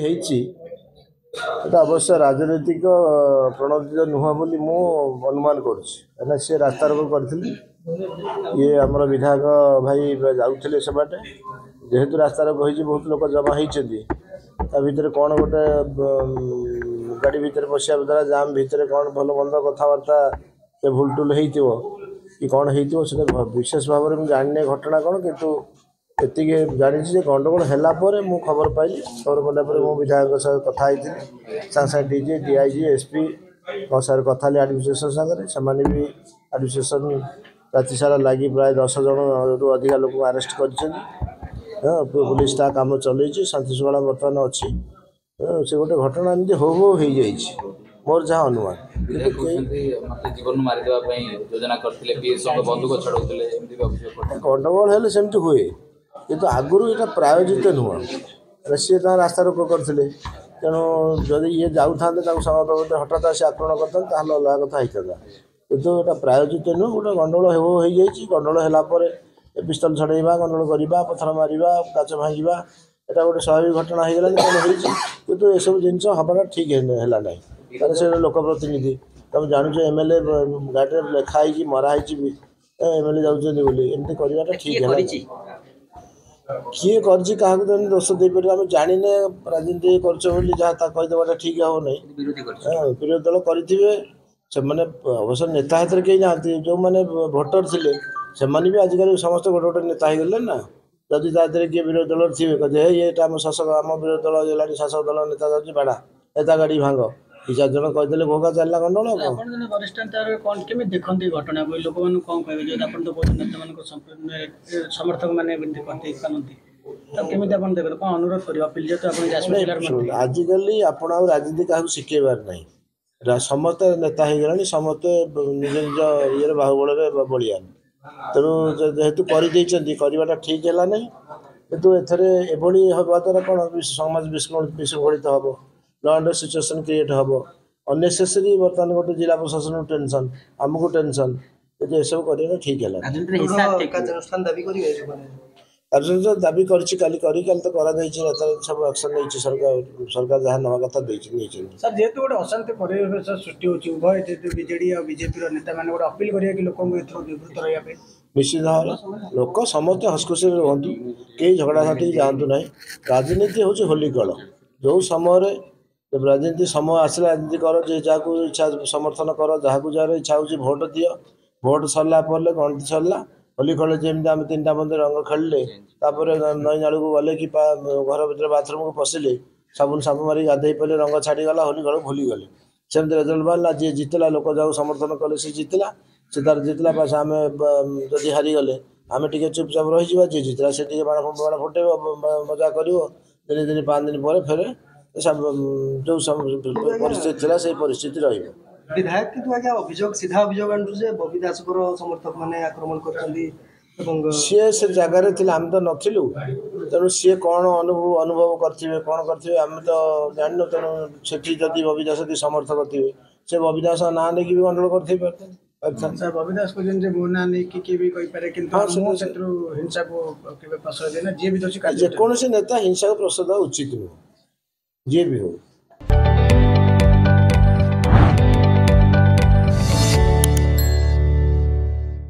ହେଇଛି ଏଟା ଅବଶ୍ୟ ରାଜନୈତିକ ପ୍ରଣୋଦିତ ନୁହଁ ବୋଲି ମୁଁ ଅନୁମାନ କରୁଛି। କାହିଁକିନା ସିଏ ରାସ୍ତାରୋକ କରିଥିଲେ, ଇଏ ଆମର ବିଧାୟକ ଭାଇ ଯାଉଥିଲେ ସେ ବାଟେ। ଯେହେତୁ ରାସ୍ତାରୋକ ହେଇଛି, ବହୁତ ଲୋକ ଜମା ହେଇଛନ୍ତି, ତା ଭିତରେ କ'ଣ ଗୋଟେ ଗାଡ଼ି ଭିତରେ ପଶିବା ଦ୍ୱାରା ଜାମ୍ ଭିତରେ କ'ଣ ଭଲ ମନ୍ଦ କଥାବାର୍ତ୍ତା ସେ ଭୁଲ ଟୁଲ ହେଇଥିବ କି କ'ଣ ହେଇଥିବ, ସେଟା ବିଶେଷ ଭାବରେ ମୁଁ ଜାଣିନି ଘଟଣା କ'ଣ। କିନ୍ତୁ ଏତିକି ଜାଣିଛି ଯେ ଗଣ୍ଡଗୋଳ ହେଲା ପରେ ମୁଁ ଖବର ପାଇଲି। ଖବର ପାଇଲା ପରେ ମୁଁ ବିଧାୟକଙ୍କ ସହ କଥା ହେଇଥିଲି। ସାଙ୍ଗେ ସାଙ୍ଗେ D G, D I G, S P ଙ୍କ ସାଙ୍ଗରେ କଥା ହେଲି, ଆଡ଼ମିନିଷ୍ଟ୍ରେସନ୍ ସାଙ୍ଗରେ। ସେମାନେ ବି ଆଡ଼ମିନିଷ୍ଟ୍ରେସନ୍ ରାତି ସାରା ଲାଗି ପ୍ରାୟ 10 ଜଣରୁ ଅଧିକା ଲୋକଙ୍କୁ ଆରେଷ୍ଟ କରିଛନ୍ତି। ହଁ, ପୋଲିସ ତା କାମ ଚଲେଇଛି, ଶାନ୍ତି ଶୃଙ୍ଖଳା ବର୍ତ୍ତମାନ ଅଛି। ସେ ଗୋଟେ ଘଟଣା ଏମିତି ହଉ ହଉ ହେଇଯାଇଛି, ମୋର ଯାହା ଅନୁମାନ। ଗଣ୍ଡଗୋଳ ହେଲେ ସେମିତି ହୁଏ, କିନ୍ତୁ ଆଗରୁ ଏଇଟା ପ୍ରାୟୋଜିତ ନୁହଁ। ସିଏ ତାଙ୍କ ରାସ୍ତା ରୋକ କରିଥିଲେ, ତେଣୁ ଯଦି ଇଏ ଯାଉଥାନ୍ତେ ତାଙ୍କୁ ସମସ୍ତ ହଠାତ୍ ଆସି ଆକ୍ରମଣ କରିଥାନ୍ତେ, ତାହେଲେ ଅଲଗା କଥା ହେଇଥାନ୍ତା। କିନ୍ତୁ ଏଇଟା ପ୍ରାୟୋଜିତ ନୁହଁ, ଗୋଟେ ଗଣ୍ଡଗୋଳ ହେଉ ହେଇଯାଇଛି। ଗଣ୍ଡଗୋଳ ହେଲା ପରେ ପିସ୍ତଲ ଛଡ଼େଇବା, ଗଣ୍ଡଗୋଳ କରିବା, ପଥର ମାରିବା, କାଚ ଭାଙ୍ଗିବା, ଏଇଟା ଗୋଟେ ସ୍ୱାଭାବିକ ଘଟଣା ହେଇଗଲାଣି, ତେଣୁ ହେଇଛି। କିନ୍ତୁ ଏସବୁ ଜିନିଷ ହେବାଟା ଠିକ୍ ହେଲା ନାହିଁ। କାରଣ ସେ ଲୋକ ପ୍ରତିନିଧି, ତମେ ଜାଣୁଛ ଏମ୍ ଏଲ୍ ଏ ଗାଡ଼ିରେ ଲେଖା ହେଇକି ମରା ହେଇଛି ବି ଏମ୍ ଏଲ୍ ଏ ଯାଉଛନ୍ତି ବୋଲି, ଏମିତି କରିବାଟା ଠିକ୍ ହେଲା। କିଏ କରିଛି କାହାକୁ ତ ଦୋଷ ଦେଇପାରିବ, ଆମେ ଜାଣିନେ। ରାଜନୀତି କରୁଛ ବୋଲି ଯାହା ତା କହିଦେବାଟା ଠିକ୍ ହେବ ନାହିଁ। ବିରୋଧୀ ଦଳ କରିଥିବେ ସେମାନେ, ଅବଶ୍ୟ ନେତା ହାତରେ କେହି ନାହାନ୍ତି। ଯେଉଁମାନେ ଭୋଟର ଥିଲେ ସେମାନେ ବି ଆଜିକାଲି ସମସ୍ତେ ଗୋଟେ ଗୋଟେ ନେତା ହେଇଗଲେ ନା। ଯଦି ତା ଦେହରେ କିଏ ବିରୋଧୀ ଦଳରେ ଥିବେ, କହିବେ ହେ ଏଇଟା ଆମ ଶାସକ, ଆମ ବିରୋଧୀ ଦଳ ହେଲାଣି, ଶାସକ ଦଳ ନେତା ଯାଉଛି, ବାଡ଼ା ନେତା ଗାଡ଼ି ଭାଙ୍ଗ, ଦୁଇ ଚାରି ଜଣ କହିଦେଲେ ଭୋଗା ଚାଲିଲା ଗଣ୍ଡଗୋଳ। ଆପଣ ଜଣେ ବରିଷ୍ଠ ନେତାର କ'ଣ କେମିତି ଦେଖନ୍ତି ଘଟଣାକୁ? ଲୋକମାନଙ୍କୁ କ'ଣ କହିବେ? ଯେହେତୁ ଆପଣ ତ କହୁଛନ୍ତି ନେତାମାନଙ୍କ ସମର୍ଥକମାନେ ଏମିତି କରିଦେଇ ପାରନ୍ତି, ତ କେମିତି ଆପଣ ଦେଖନ୍ତି, କ'ଣ ଅନୁରୋଧ କରିବେ, ଅପିଲ, ଯେହେତୁ ଆପଣ ଯାଜପୁର ଜିଲ୍ଲାର ମନ୍ତ୍ରୀ? ଆଜିକାଲି ଆପଣ ଆଉ ରାଜନୀତି କାହାକୁ ଶିଖେଇବାର ନାହିଁ। ସମସ୍ତେ ନେତା ହେଇଗଲାଣି, ସମସ୍ତେ ନିଜ ନିଜ ଇଏରେ ବାହୁବଳରେ ବଳିଆନ। ତେଣୁ ଯେହେତୁ କରିଦେଇଛନ୍ତି, କରିବାଟା ଠିକ୍ ହେଲା ନାହିଁ। କିନ୍ତୁ ଏଥିରେ ଏଭଳି ହେବା ଦ୍ୱାରା କ'ଣ ସମାଜ ବିଶୃଙ୍ଖଳିତ ହେବ, ଲ ଆଣ୍ଡ ସିଚୁଏସନ୍ କ୍ରିଏଟ୍ ହେବ ଅନନେସେସରି। ବର୍ତ୍ତମାନ ଗୋଟେ ଜିଲ୍ଲା ପ୍ରଶାସନକୁ ଟେନସନ୍, ଆମକୁ ଟେନସନ୍। କିନ୍ତୁ ଏସବୁ କରିବାଟା ଠିକ୍ ହେଲା। କାର୍ଯ୍ୟାନୁଷ୍ଠାନ ଦାବି କରିଛି, କାଲି କରି କାଲି ତ କରାଯାଇଛି, ନେତା ସବୁ ଆକ୍ସନ୍ ନେଇଛି ସରକାର। ସରକାର ଯାହା ନେବା କଥା ଦେଇଛି, ନେଇଛନ୍ତି। ସାର୍, ଯେହେତୁ ଗୋଟେ ଅଶାନ୍ତି ପରିବେଶ ସୃଷ୍ଟି ହେଉଛି, ଉଭୟ ଯେହେତୁ ବିଜେଡି ଆଉ ବିଜେପିର ନେତାମାନେ ଗୋଟେ ଅପିଲ କରିବା କି ଲୋକଙ୍କୁ ଏଥିରୁ ନିବୃତ୍ତ ରହିବା ପାଇଁ? ନିଶ୍ଚିତ ଭାବରେ ଲୋକ ସମସ୍ତେ ହସଖୁସିରେ ରୁହନ୍ତୁ, କେହି ଝଗଡ଼ାଝାଟିକି ଯାଆନ୍ତୁ ନାହିଁ। ରାଜନୀତି ହେଉଛି ହୋଲି ଖେଳ। ଯେଉଁ ସମୟରେ ରାଜନୀତି ସମୟ ଆସିଲା, ରାଜନୀତି କର, ଯେ ଯାହାକୁ ଇଚ୍ଛା ସମର୍ଥନ କର, ଯାହାକୁ ଯାହାର ଇଚ୍ଛା ହେଉଛି ଭୋଟ ଦିଅ। ଭୋଟ ସରିଲା ପରେ ଗଣତି ସରିଲା, ହୋଲି ଖେଳ। ଯେମିତି ଆମେ 3ଟା ମଧ୍ୟ ରଙ୍ଗ ଖେଳିଲେ, ତାପରେ ନଈ ନାଳକୁ ଗଲେ କି ଘର ଭିତରେ ବାଥରୁମକୁ ପଶିଲେ, ସାବୁନ ସାବୁନ ମାରିକି ଗାଧେଇ ପଡ଼ିଲେ, ରଙ୍ଗ ଛାଡ଼ିଗଲା, ହୋଲି ଖେଳ ଭୁଲିଗଲେ। ସେମିତି ରେଜଲ୍ଟ ବାହାରିଲା, ଯିଏ ଜିତିଲା, ଲୋକ ଯାହାକୁ ସମର୍ଥନ କଲେ ସେ ଜିତିଲା, ସେ ତାର ଜିତିଲା। ବାସ୍, ଆମେ ଯଦି ହାରିଗଲେ ଆମେ ଟିକେ ଚୁପଚାପ ରହିଯିବା, ଯିଏ ଜିତିଲା ସେ ଟିକେ ବାଣ ବାଣ ଫୁଟେଇବ, ମଜା କରିବ। ଦିନେ ଦିନେ 5 ଦିନ ପରେ ଫେରେ ଯେଉଁ ପରିସ୍ଥିତି ଥିଲା ସେଇ ପରିସ୍ଥିତି ରହିବ। ବିଧାୟକ କିନ୍ତୁ ଆଜ୍ଞା ଅଭିଯୋଗ, ସିଧା ଅଭିଯୋଗ ଆଣୁଛୁ ଯେ ବବି ଦାସଙ୍କର ସମର୍ଥକ ମାନେ ଆକ୍ରମଣ କରିଛନ୍ତି। ଏବଂ ସିଏ ସେ ଜାଗାରେ ଥିଲେ, ଆମେ ତ ନଥିଲୁ। ତେଣୁ ସିଏ କ'ଣ ଅନୁଭବ କରିଥିବେ, କ'ଣ କରିଥିବେ ଆମେ ତ ଜାଣିନୁ। ତେଣୁ ସେଠି ଯଦି ବବି ଦାସ କି ସମର୍ଥକ ଥିବେ, ସେ ବବି ଦାସ ନାଁ ନେଇକି ବି ଗଣ୍ଡଗୋଳ କରିଥାଇ ପାରିଥାନ୍ତି। ସାର୍, ବବି ଦାସ କହୁଛନ୍ତି ଯେ ମୋ ନାଁ ନେଇକି କିଏ ବି କହିପାରେ, କିନ୍ତୁ ମୁଁ ସେଥିରୁ ହିଂସାକୁ କେବେ ପ୍ରଶ୍ରୟ ଦିଏ ନା, ଯିଏ ବି ଦୋଷୀ। ଯେକୌଣସି ନେତା ହିଂସାକୁ ପ୍ରଶ୍ରୟ ଦେବା ଉଚିତ ନୁହଁ, ଯିଏ ବି ହଉ।